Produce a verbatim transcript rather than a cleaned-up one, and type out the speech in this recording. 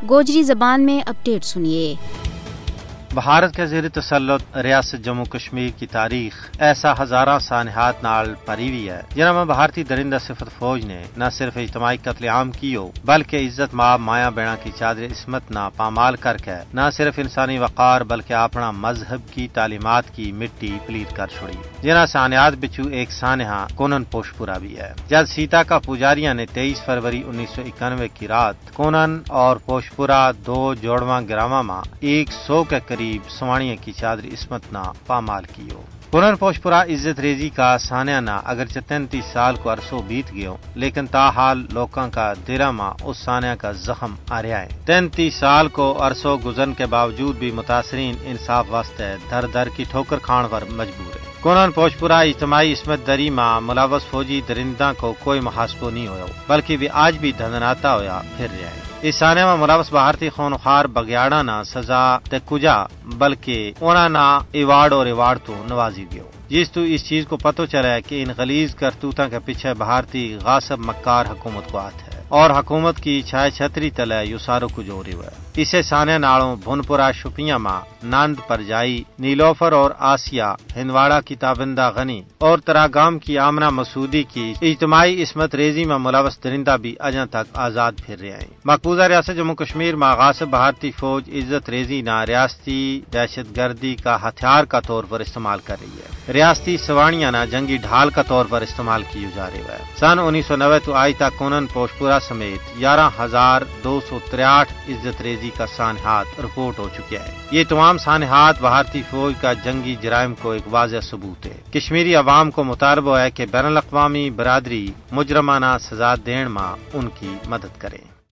گوجری زبان میں اپڈیٹ سنیے۔ بھارت کے زیر تسلط ریاست جموں کشمیر کی تاریخ ایسا ہزاراں سانحات نال پری ہوئی ہے، جنہاں میں بھارتی درندہ صفت فوج نے نہ صرف اجتماعی قتل عام کیو، بلکہ عزت ماں مایاں بینا کی چادر عصمت نا پامال کر کے نہ صرف انسانی وقار بلکہ اپنا مذہب کی تعلیمات کی مٹی پلیر کر چھڑی۔ جنہاں سانحات بچو ایک سانحہ کونن پوشپورا بھی ہے، جد سیتا کا پجاریاں نے تئیس فروری انیس سو اکانوے کی رات کونن اور پوشپورا دو جوڑواں گراواں ما ایک سو کے قریب سوانیاں کی چادر عصمت نا پامال کیو۔ کونن پوشپورا عزت ریزی کا سانحہ نا اگرچہ تینتیس سال کو عرصو بیت گیو، لیکن تاحال لوکاں کا دراں ما اس سانحہ کا زخم آ رہیا ہے۔ تینتیس سال کو عرصو گزرن کے باوجود بھی متاثرین انصاف واسطے در در کی ٹھوکر کھان پر مجبور ہے۔ کونن پوشپورا اجتماعی عصمت دری ما ملوث فوجی درنداں کو کوئی محاسبو نہیں ہویو، بلکہ ویہ آج بھی دھندناتا ہویا پھر رہیا ہے۔ اس سانحہ ما ملوث بھارتی خونخوار بگیاڑاں نا سزا تے کجا، بلکہ انہاں نا ایوارڈ اور ریوارڈ تو نوازی گیو، جس تو اس چیز کو پتو چلے کہ ان غلیظ کرتوتاں کے پچھے بھارتی غاصب مکار حکومت کو ہاتھ ہے اور حکومت کی چھائے چھتری تلے یوہ سارو کجھ ہو رہیو ہے۔ اسے سانحہ نالوں بھنپورا شپیاں ما نند پرجائی نیلوفر اور آسیا ہندواڑا کی تابندہ غنی اور تراگام کی آمنہ مسودی کی اجتماعی عصمت ریزی ما ملوث درندہ بھی اجاں تک آزاد پھر رہیا ہیں۔ مقبوضہ ریاست جموں کشمیر ما غاصب بھارتی فوج عزت ریزی نا ریاستی دہشت گردی کا ہتھیار کا طور پر استعمال کر رہی ہے۔ ریاستی سوانیاں نا جنگی ڈھال کا طور پر استعمال کیو جا رہیو ہے۔ سن انیس سو نوے تو آج تک کونن پوشپورا سمیت یارہ ہزار دو سو تریاٹھ عزت ریزی کا سانحات رپورٹ ہو چکیا ہے۔ یہ تمام سانحات بھارتی فوج کا جنگی جرائم کو ایک واضح ثبوت ہے۔ کشمیری عوام کو مطالبو ہے کہ بین الاقوامی برادری مجرمانہ سزا دین ما ان کی مدد کریں۔